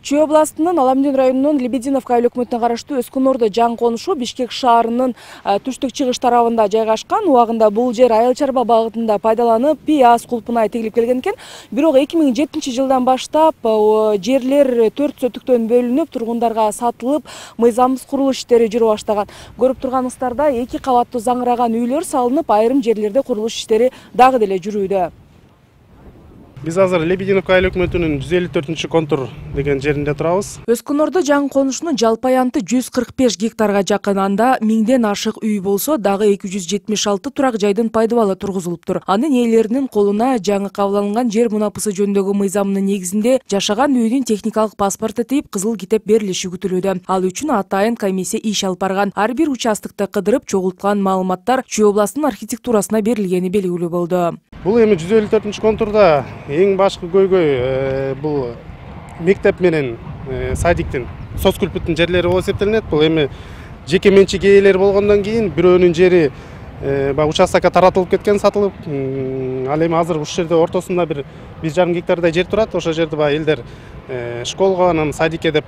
Чүй областынын Аламдин районунун Лебединовка айыл өкмөтүнө караштуу Өскүнөрдө жаңы конушу Бишкек шаарынын түштүк-чыгыш тарабында жайгашкан. Убагында бул жер айыл чарба багытында пайдаланып, ААС кулпуна тегилип келген экен. Бирок 2007-жылдан баштап жерлер 4 сөтүктөн бөлүнүп, тургундарга сатылып, мыйзамсыз курулуш иштери жүрө баштаган. Көрүп турганыңыздарда 2 кабаттуу заңыраган үйлөр салынып, айрым жерлерде курулуш иштери дагы деле жүрүүдө. Биз азыр Лебединовка айыл өкмөтүнүн 154-контур деген жеринде турабыз. Өскүнөрдө жаңы конушунун жалпы аянты 145 гектарга жакын, анда 1000ден ашык үй болсо, дагы 276 турак жайдын пайдабалы тургузулуптур. Анын ээлеринин колуна жаңы кабыл алынган жер мунапысы жөнүндөгү мыйзамынын негизинде жашаган үйдүн техникалык паспорту тийип, кызыл китеп берилиши күтүлүүдө. Ал үчүн атайын комиссия иш алып барган. Ар бир участокто кыдырып чогулткан маалыматтар Чүй областынын архитектурасына берилгени белгилүү болду. Бул эми 154-контурда эң башкы көйгөй бул мектеп менен садиктин соц күлпүттүн жерлери болуп эсептелинет. Бул эми жеке менчик ээлери болгондон кийин бирөөнүн жери баягы участокко таратылып кеткен, сатылып. Ал эми азыр ушул жерде ортосунда бир 1,5 гектардай жер турат. Ошол жерде баягы элдер школго, анан садикке деп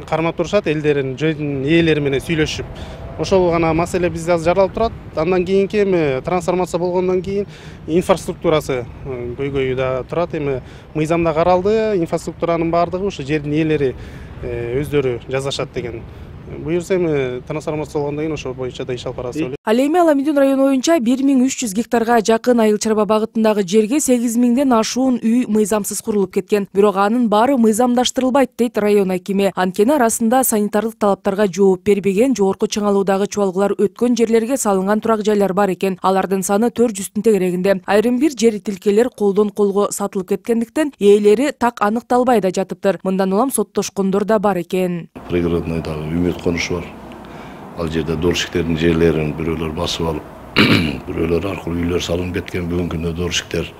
кармап турушат, элдердин жердин ээлери менен сүйлөшүп. Ошол гана маселе бизде азыр жаралып турат. Андан кийинки эми трансформация болгондон кийин инфраструктурасы көйгөйү да турат. Эми мыйзамда каралды, инфраструктуранын баардыгы ушу жердин ээлери өздөрү жасашат деген. Буюрса эми трансформация болгондон кийин ошол боюнча да иш алып барабыз деп ойлойм. Ал эми Аламдин району боюнча 1300 гектарга жакын айыл чарба багытындагы жерге 8000ден ашуун үй мыйзамсыз курулуп кеткен. Бирок анын баары мыйзамдаштырылбайт дейт район акими. Анткени арасында санитардык талаптарга жооп бербеген, жогорку чыңалуудагы чубалгылар өткөн жерлерге салынган турак жайлар бар экен. Алардын саны 400-тün тегерегинде. Айрым бир жер тилкелер колдон колго сатылып кеткендиктен ээлери так аныкталбай да жатыптыр. Мындан улам соттошкондор да бар экен. Пригородныйдагы Үмүт конушу бар. Ал жерде доршиктердин жерлерин бирөөлөр басып алып, бирөөлөр аркылуу үйлөр салынып кеткен. Бүгүнкү күндө доршиктер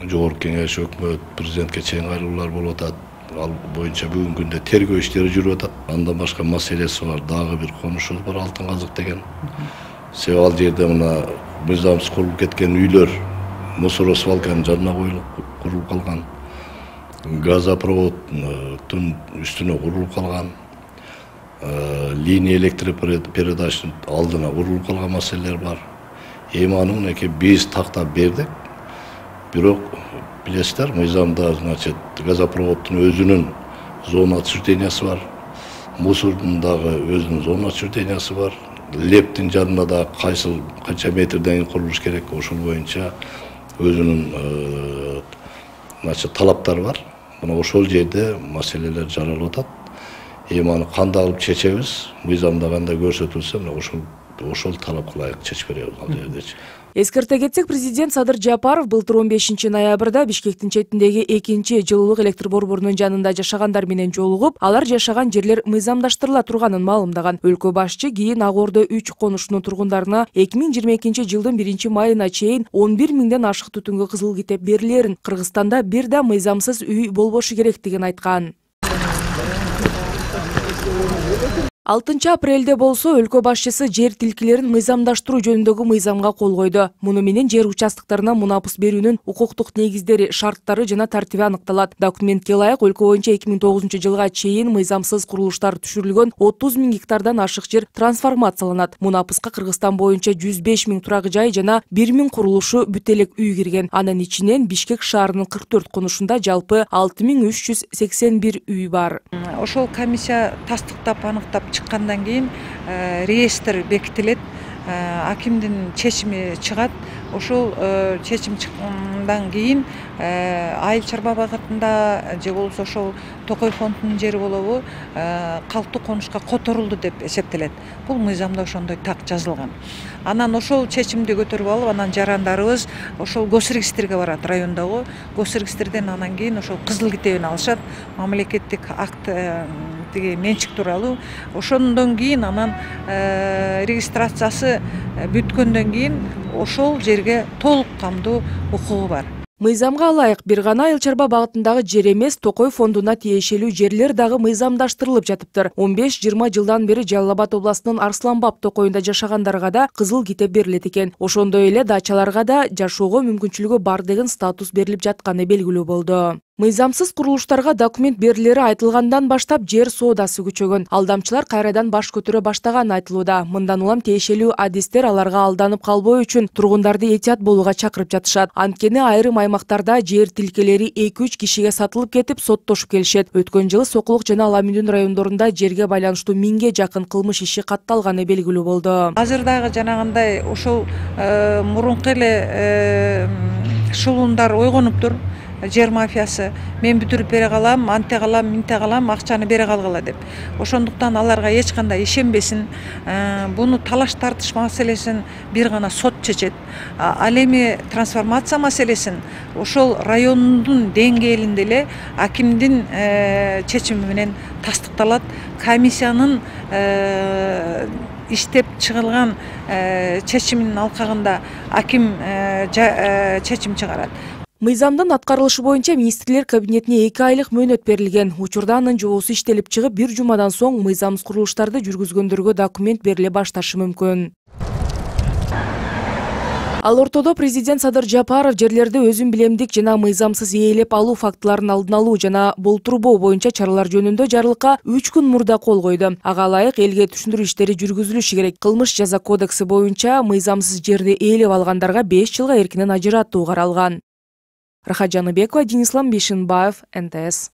жогорку кеңеш, өкмөт, президентке чейин кайрылуулар болуп атат. Ал боюнча бүгүнкү күндө тергөө иштери жүрүп атат. Андан башка маселеси бар. Дагы бир конушубуз бар, Алтын казык деген. Себеби ал жерде мына мыйзамсыз курулуп кеткен үйлөр мусоросвалканын жанына коюлуп курулуп калган. Газопроводдун үстүнө курулуп калган. Линия электропередачанын алдына курулуп калган маселелер бар. Эми аны мынакей биз тактап бердик. Бирок билесиздер, мыйзамда значит газопроводдун өзүнүн зона отчуждениясы бар. Мусордун дагы өзүнүн зона отчуждениясы бар. Лептин жанында да канча метрден курулуш керек, ошол боюнча өзүнүн значит талаптары бар. Мына ошол жерде маселелер жаралып атат. Эми аны кандай алып чечебиз, мыйзамда кандай көрсөтүлсө, мына ошол талапка ылайык чечип беребиз ал жердечи. Эскерте кетсек, президент Садыр Жапаров былтыр 15-ноябрда Бишкектин четиндеги 2-чи жылуулук электр борборунун жанында жашагандар менен жолугуп, алар жашаган жерлер мыйзамдаштырыла турганын маалымдаган. Өлкө башчы кийин Ак Ордо 3 конушунун тургундарына 2022-жылдын 1-майына чейин 11.000ден ашык түтүнгө кызыл китеп берилерин, Кыргызстанда бир да мыйзамсыз үй болбошу керектигин айткан. 6-апрелде болсо өлкө башчысы жер тилкелерин мыйзамдаштыруу жөнүндөгү мыйзамга кол койду. Муну менен жер участоктарына мунапыс берүүнүн укуктук негиздери, шарттары жана тартиби аныкталат. Документке ылайык өлкө боюнча 2009-жылга чейин мыйзамсыз курулуштар түшүрүлгөн 30.000 гектардан ашык жер трансформацияланат. Мунапыска Кыргызстан боюнча 105.000 турак жай жана 1.000 курулушу бүт элек үй кирген. Анын ичинен Бишкек шаарынын 44 конушунда жалпы 6381 үй бар. Ошол комиссия тастыктап, аныктап чыккандан кийин реестр бекитилет, акимдин чечими чыгат. Ошол чечим чыккандан кийин айыл чарба багытында же болбосо ошол Токой фондунун жери болобу калктуу конушка которулду деп эсептелет. Бул мыйзамда ошондой так жазылган. Анан ошол чечимди көтөрүп алып, анан жарандарыбыз ошол госрегистрге барат, райондогу госрегистрден анан кийин ошол кызыл китебин алышат, мамлекеттик акт тиги менчик тууралуу. Ошондон кийин анан регистрациясы бүткөндөн кийин ошол жерге толук камдуу укугу бар. Мыйзамга ылайык бир гана айыл чарба багытындагы жер эмес, Токой фондуна тиешелүү жерлер дагы мыйзамдаштырылып жатыптыр. 15-20 жылдан бери Жалал Абад областынын Арсланбаб токоюнда жашагандарга да кызыл китеп берилет экен. Ошондой эле дачаларга да жашоого мүмкүнчүлүгү бар деген статус берилип жатканы белгилүү болду. Мыйзамсыз курулуштарга документ берилери айтылгандан баштап жер соодасы күчөгөн. Алдамчылар кайрадан баш көтөрө баштаганы айтылууда. Мындан улам тиешелүү адистер аларга алданып калбоо үчүн тургундарды этият болууга чакырып жатышат. Анткени айрым аймактарда жер тилкелери 2-3 кишиге сатылып кетип, соттошуп келишет. Өткөн жылы Сокулук жана Ала Мүнүн райондорунда жерге байланыштуу 1000ге жакын кылмыш иши катталганы белгилүү болду. Азыр дагы жанагындай ошол мурунку эле шулундар ойгонуптур. Жер мафиясы мен бүтүрүп бере калам, анте калам, минте калам, акчаны бере калгыла деп. Ошондуктан аларга эч кандай ишенбесин. Буну талаш тартыш маселесин бир гана сот чечет. Ал эми трансформация маселесин ошол райондун деңгээлинде эле акимдин чечими менен тастыкталат. Комиссиянын иштеп чыгылган чечиминин алкагында аким чечим чыгарат. Мыйзамдын аткарылышы боюнча министрлер кабинетине 2 айлык мөөнөт берилген. Учурда анын жобосу иштелип чыгып, 1 жумадан соң мыйзамсыз курулуштарды жүргүзгөндөргө документ бериле башташы мүмкүн. Ал ортодо президент Садыр Жапаров жерлерди өзүн билемдик жана мыйзамсыз ээлеп алуу фактыларын алдын алуу жана болтурбоо боюнча чаралар жөнүндө жарлыкка 3 күн мурда кол койду. Ага ылайык элге түшүндүрүү иштери жүргүзүлүшү керек. Кылмыш жаза кодекси боюнча мыйзамсыз жерди ээлеп алгандарга 5 жылга эркинен ажыратуу каралган. Рахат Жаныбекова, Денис Ламбишинбаев, НТС.